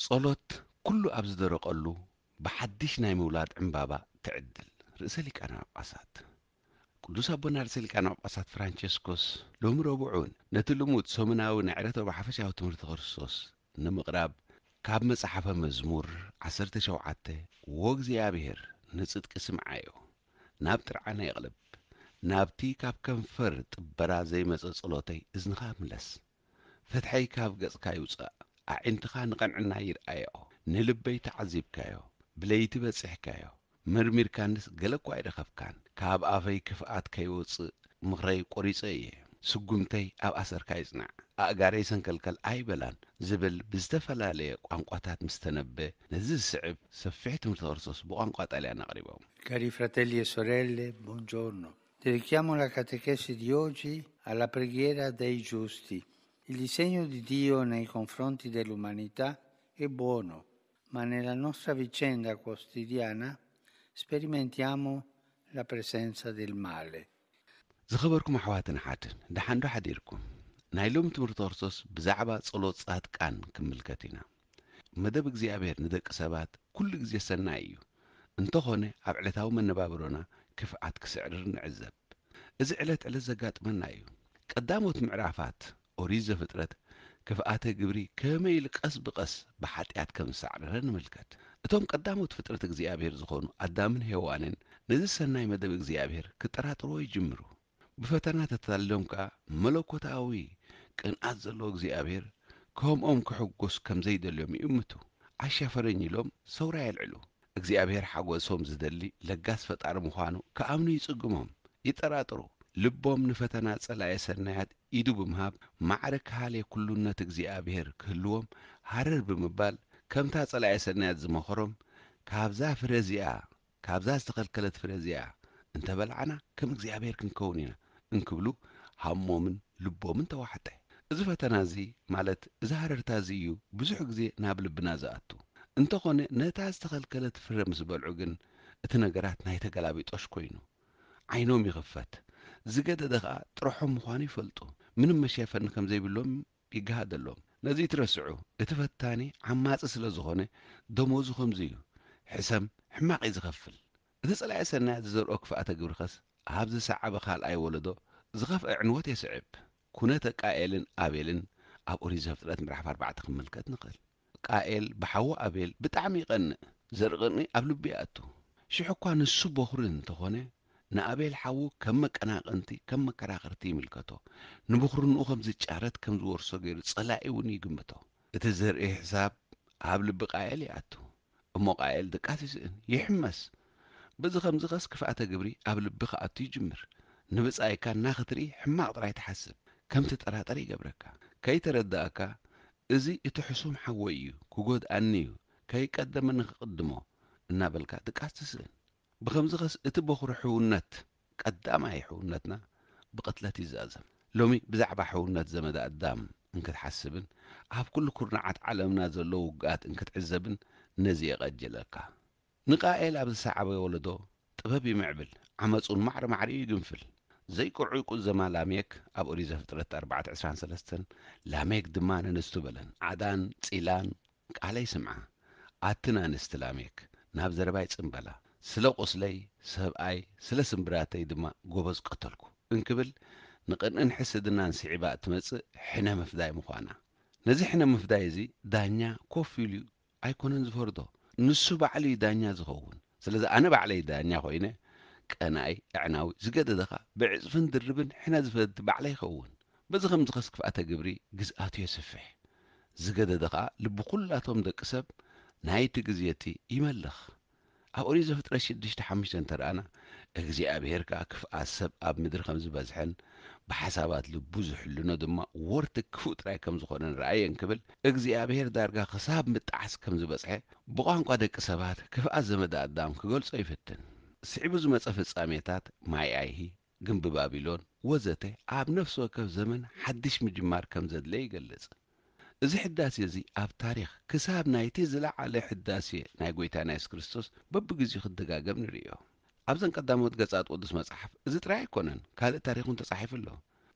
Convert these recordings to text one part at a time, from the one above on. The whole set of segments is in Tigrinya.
ጸሎት ኩሉ ኣብ ዝደረቐሉ ብሓድሽ ናይ ምውላድ ዕምባባ ትዕድል። ርእሰ ሊቃነ ጳጳሳት ቅዱስ ኣቦና ርእሰ ሊቃነ ጳጳሳት ፍራንቸስኮስ ሎሚ ረቡዕ እውን ነቲ ልሙድ ሰሙናዊ ናይ ዕለተ ረቡዕ ሓፈሻዊ ትምህርቲ ክርስቶስ ንምቕራብ ካብ መጽሓፈ መዝሙር ዓሰርተ ሸውዓተ፣ "ወእግዚኣብሔር ንጽድቂ ስምዓዮ፣ ናብ ጥርዓነ የቕልብ፣ ናብቲ ካብ ከንፈር ጥበራ ዘይመጸ ጸሎተይ እዝንኻ ምለስ፣ ፍትሐይ ካብ ገጽካ ይውጻእ፣ ኣዒንትኻ ንቐንዕና ይርኣዮ፣ ንልበይ ተዓዚብካዮ፣ ብለይቲ በጺሕካዮ፣ መርሚርካንስ ገለ እኳ ኣይረኸብካን፣ ካብ ኣፈይ ክፍኣት ከይወጽእ ምኽረይ ቆሪጸ እየ፣ ስጉምተይ ኣብ ኣሰርካ ይጽናዕ፣ ኣእጋረይ ሰንከልከል ኣይበላን" ዝብል ብዝተፈላለየ ቋንቋታት ምስ ተነበ፣ ነዚ ዝስዕብ ሰፊሕ ትምህርቲ ክርስቶስ ብቋንቋ ጣልያን ኣቕሪቦም። Cari fratelli e sorelle, buongiorno. Dedichiamo la catechesi di oggi alla preghiera dei giusti. Il disegno di Dio nei confronti dell'umanità è buono, ma nella nostra vicenda quotidiana sperimentiamo la presenza del male. ዝኸበርኩም ኣሕዋትን ሓትን፣ ደሓን ዶ ሓዲርኩም? ናይ ሎሚ ትምህርቲ ክርስቶስ ብዛዕባ ጸሎት ጻድቃን ክምልከት ኢና። መደብ እግዚኣብሔር ንደቂ ሰባት ኩሉ ግዜ ሰናይ እዩ። እንተኾነ ኣብ ዕለታዊ መነባብሮና ክፍኣት ክስዕርር ንዕዘብ። እዚ ዕለት ዕለት ዘጋጥመና እዩ። ቀዳሞት ምዕራፋት ኦሪት ዘፍጥረት ክፍኣተ ግብሪ ከመይ ኢሉ ቀስ ብቐስ ብሓጢኣት ከም ዝሰዕረረ ንምልከት። እቶም ቀዳሞት ፍጥረት እግዚኣብሔር ዝኾኑ ኣዳምን ሄዋንን ነዚ ሰናይ መደብ እግዚኣብሔር ክጠራጥርዎ ይጅምሩ። ብፈተና ተታሊሎም ከኣ መለኮታዊ ቅንኣት ዘለዎ እግዚኣብሔር ከምኦም ክሕጎስ ከም ዘይደልዮም ይእምቱ። "ኣሻፈረኝ" ኢሎም ሰውራ የልዕሉ። እግዚኣብሔር ሓጎሶም ዝደሊ ለጋስ ፈጣሪ ምዃኑ ክኣምኑ ይጽግሞም። ይጠራጥሩ። ልቦም ንፈተና ጸላኤ ሰናያት ኢዱ ብምሃብ ማዕረ ክሃሌ ኩሉነት እግዚኣብሔር ክህልዎም ሃረር ብምባል፣ ከምታ ጸላኤ ሰናያት ዝመኸሮም፣ "ካብዛ ፍረ እዚኣ፣ ካብዛ ዝተኸልከለት ፍረ እዚኣ እንተበላዕና ከም እግዚኣብሔር ክንከውን ኢና" እንክብሉ ሃሞምን ልቦምን ተዋሕጠ። እዚ ፈተና እዚ፣ ማለት እዚ ሃረርታ እዚ እዩ ብዙሕ ግዜ ናብ ልብና ዝኣቱ። እንተኾነ ነታ ዝተኸልከለት ፍረ ምስ በልዑ ግን እቲ ነገራት ናይ ተገላቢጦሽ ኮይኑ። ዓይኖም ይኽፈት። ዝገደደ ኸኣ ጥርሖም ምዃኑ ይፈልጡ። ምንም መሸፈኒ ከም ዘይብሎም ይገሃደሎም። ነዚ ትረስዑ። እቲ ፈታኒ ዓማጺ ስለ ዝኾነ ደሞዙ ከምዚ እዩ። ሕሰም ሕማቕ እዩ ዝኸፍል። እቲ ጸላኢ ሰናያት ዝዘርኦ ክፍኣተ ግብሪ ኸስ ኣብ ዝሰዓበ ካልኣይ ወለዶ ዝኸፍአ ዕንወት የስዕብ። ኩነተ ቃኤልን ኣቤልን ኣብ ኦሪት ዘፍጥረት ምዕራፍ ኣርባዕተ ክንምልከት ንኽእል። ቃኤል ብሓዉ ኣቤል ብጣዕሚ ይቐንእ። ዘርኢ ቅንኢ ኣብ ልቡ ይኣቱ። ሽሕ እኳ ንሱ በኹሪ እንተኾነ፣ ንኣቤል ሓዉ ከም መቀናቐንቲ፣ ከም መከራኸርቲ ይምልከቶ። ንብኹርንኡ ከም ዝጫረት፣ ከም ዝወርሶ ገይሩ ጸላኢ እውን ይግምቶ። እቲ ዘርኢ ሕሳብ ኣብ ልቢ ቃኤል ይኣቱ። እሞ ቃኤል ድቃስ ይስእን፣ ይሕመስ። በዚ ከምዚ ኸስ ክፍኣተ ግብሪ ኣብ ልቢ ክኣቱ ይጅምር። ንብጻይካ እናኽትርኢ ሕማቕ ጥራይ ትሓስብ፣ ከም ትጠራጠር ይገብረካ። ከይተረዳእካ፣ "እዚ እቲ ሕሱም ሓወይ እዩ፣ ክጎድኣኒ እዩ፣ ከይቀደመኒ ክቕድሞ" እናበልካ ድቃስ ትስእን። ብኸምዚ ኸስ እቲ በኹሪ ሕውነት፣ ቀዳማይ ሕውነትና ብቕትለት ይዛዘም። ሎሚ ብዛዕባ ሕውነት ዘመደ ኣዳም እንክትሓስብን ኣብ ኩሉ ኩርናዓት ዓለምና ዘለዉ ውግኣት እንክትዕዘብን ነዚ የቐጅለካ። ንቃኤል ኣብ ዝሰዓበ ወለዶ ጥበብ ይምዕብል፣ ዓመጹን ማዕረ ማዕሪኡ ይግንፍል። ዘይቅዑይ ቁዘማ ላሜክ ኣብ ኦሪት ዘፍጥረት ኣርባዕተ ዕስራን ሰለስተን፣ ላሜክ ድማ ነንስቱ በለን፣ "ዓዳን ጺላን ቃለይ ስምዓ፣ ኣትን ኣንስቲ ላሜክ፣ ናብ ዘረባይ ጽምበላ። ስለ ቁስለይ ሰብኣይ፣ ስለ ስምብራተይ ድማ ጎበዝ ቀተልኩ" እንክብል፣ ንቕንእን ሕስድናን ስዒባ እትመጽእ ሕነ ምፍዳይ ምዃና። ነዚ ሕነ ምፍዳይ እዚ ዳኛ ኮፍ ኢሉ ኣይኮነን ዝፈርዶ፣ ንሱ ባዕሉ እዩ ዳኛ ዝኸውን። ስለዚ ኣነ ባዕለይ ዳኛ ኮይነ፣ ቀናኢ፣ ኣዕናዊ፣ ዝገደደ ኸኣ ብዕጽፍን ድርብን ሕነ ዝፈዲ ባዕለይ ይኸውን። በዚ ከምዚ ኸስ ክፍኣተ ግብሪ ግዝኣቱ የስፍሕ። ዝገደደ ኸኣ ልቢ ኩላቶም ደቂ ሰብ ናይቲ ግዜ እቲ ይመልኽ። ኣብ ኦሪት ዘፍጥረት ሽዱሽተ ሓሙሽተ እንተ ረኣና፣ እግዚኣብሄር ከኣ ክፍኣት ሰብ ኣብ ምድሪ ከም ዝበዝሐን ብሓሳባት ልቡ ዝሕልኖ ድማ ወርቲ ክፉእ ጥራይ ከም ዝኾነን ረኣየ እንክብል፣ እግዚኣብሄር ዳርጋ ክሳብ ምጣዓስ ከም ዝበጽሐ ብቋንቋ ደቂ ሰባት ክፍኣት ዘመደ ኣዳም ክገልጾ ይፍትን። ስዒቡ ዝመጸ ፍጻሜታት፣ ማይ ኣይሂ፣ ግንቢ ባቢሎን ወዘተ፣ ኣብ ነፍሲ ወከፍ ዘመን ሓድሽ ምጅማር ከም ዘድለ ይገልጽ። እዚ ሕዳሴ እዚ ኣብ ታሪኽ ክሳብ ናይቲ ዝለዓለ ሕዳሴ ናይ ጐይታና የሱስ ክርስቶስ በብግዜኡ ክደጋገም ንርእዮ። ኣብዘን ቀዳሞት ገጻት ቅዱስ መጽሓፍ እዚ ጥራይ ኣይኮነን፣ ካልእ ታሪኽ እውን ተጻሒፉ ኣሎ።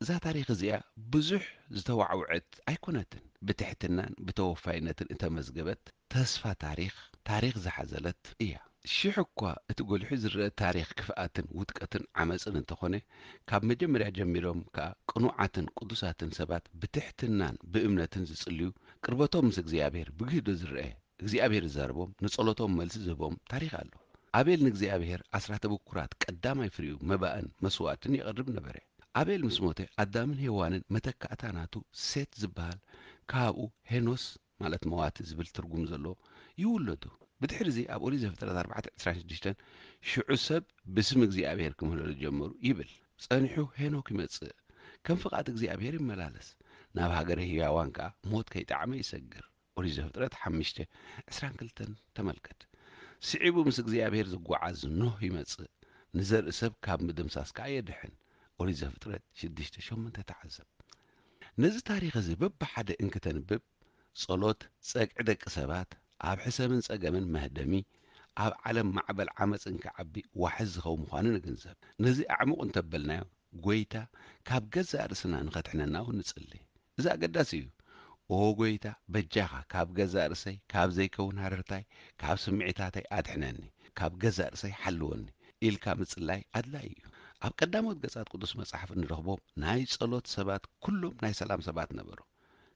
እዛ ታሪኽ እዚኣ ብዙሕ ዝተዋዕውዐት ኣይኮነትን። ብትሕትናን ብተወፋይነትን እተመዝገበት ተስፋ ታሪኽ፣ ታሪኽ ዝሓዘለት እያ። ሽሕ እኳ እቲ ጎሊሑ ዝረአ ታሪኽ ክፍኣትን ውድቀትን ዓመጽን እንተኾነ፣ ካብ መጀመርያ ጀሚሮም ከኣ ቅኑዓትን ቅዱሳትን ሰባት ብትሕትናን ብእምነትን ዝጽልዩ፣ ቅርበቶም ምስ እግዚኣብሔር ብግህዶ ዝረአ፣ እግዚኣብሔር ዝዛረቦም፣ ንጸሎቶም መልሲ ዝህቦም ታሪኽ ኣሎ። ኣቤል ንእግዚኣብሔር ኣስራተ ብኩራት ቀዳማይ ፍሪኡ መባእን መስዋእትን የቕርብ ነበረ። ኣቤል ምስ ሞተ፣ ኣዳምን ሄዋንን መተካእታ ናቱ ሴት ዝበሃል ካብኡ ሄኖስ ማለት መዋቲ ዝብል ትርጉም ዘለዎ ይውለዱ። ብድሕሪ እዚ ኣብ ኦሪት ዘፍጥረት ኣርባዕተ ዕስራን ሽዱሽተን ሽዑ ሰብ ብስም እግዚኣብሔር ክምህለሉ ጀመሩ ይብል። ጸኒሑ ሄኖክ ይመጽእ። ከም ፍቓድ እግዚኣብሔር ይመላለስ። ናብ ሃገረ ህያዋን ከኣ ሞት ከይጠዓመ ይሰግር። ኦሪት ዘፍጥረት ሓሙሽተ ዕስራን ክልተን ተመልከት። ስዒቡ ምስ እግዚኣብሔር ዝጓዓዝ ኖህ ይመጽእ። ንዘርኢ ሰብ ካብ ምድምሳስ ከኣ የድሕን። ኦሪት ዘፍጥረት ሽዱሽተ ሸሞንተ ተዓዘብ። ነዚ ታሪኽ እዚ በብሓደ እንክተንብብ፣ ጸሎት ጸግዒ ደቂ ሰባት፣ ኣብ ሕሰምን ጸገምን መህደሚ፣ ኣብ ዓለም ማዕበል ዓመጽ እንክዓቢ ዋሕዚ ዝኸውን ምዃኑ ንግንዘብ። ነዚ ኣዕሙቕ እንተበልናዮ፣ ጐይታ ካብ ገዛእ ርእስና ንኸድሕነና እውን ንጽሊ። እዚ ኣገዳሲ እዩ። ኦ ጐይታ፣ በጃኻ ካብ ገዛእ ርእሰይ፣ ካብ ዘይከውን ሃረርታይ፣ ካብ ስምዒታተይ ኣድሕነኒ፣ ካብ ገዛእ ርእሰይ ሓልወኒ ኢልካ ምጽላይ ኣድላዪ እዩ። ኣብ ቀዳሞት ገጻት ቅዱስ መጽሓፍ እንረኽቦም ናይ ጸሎት ሰባት ኩሎም ናይ ሰላም ሰባት ነበሩ።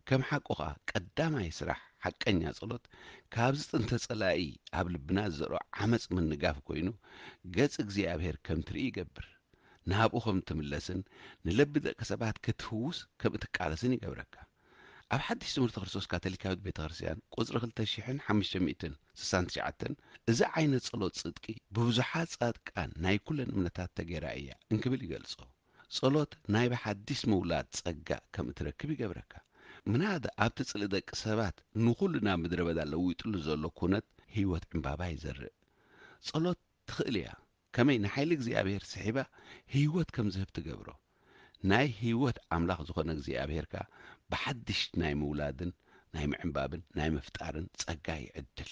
ከም ሓቁ ኸኣ ቀዳማይ ስራሕ ሓቀኛ ጸሎት ካብዚ ጥንተ ጸላኢ ኣብ ልብና ዝዘርኦ ዓመጽ ምንጋፍ ኮይኑ ገጽ እግዚኣብሔር ከም ትርኢ ይገብር። ናብኡ ከም እትምለስን ንልቢ ደቂ ሰባት ክትፍውስ ከም እትቃለስን ይገብረካ። ኣብ ሓድሽ ትምህርቲ ክርስቶስ ካቶሊካዊት ቤተ ክርስቲያን ቁጽሪ ክልተ ሽሕን ሓሙሽተ ሚእትን ስሳን ትሽዓተን እዚ ዓይነት ጸሎት ጽድቂ ብብዙሓት ጻድቃን ናይ ኩለን እምነታት ተገይራ እያ እንክብል ይገልጾ። ጸሎት ናይ ብሓዲስ ምውላድ ጸጋ ከም እትረክብ ይገብረካ። ምናዳ ኣብቲ ጽልኢ ደቂ ሰባት ንኹሉ ናብ ምድረ በዳ ለዊጥሉ ዘሎ ኩነት ህይወት ዕምባባ ይዘርእ። ጸሎት ትኽእል እያ። ከመይ ንሓይሊ እግዚኣብሔር ስሒባ ህይወት ከም ዝህብ ትገብሮ። ናይ ህይወት ኣምላኽ ዝኾነ እግዚኣብሔር ከኣ ብሓድሽ ናይ ምውላድን ናይ ምዕምባብን ናይ ምፍጣርን ጸጋ ይዕድል።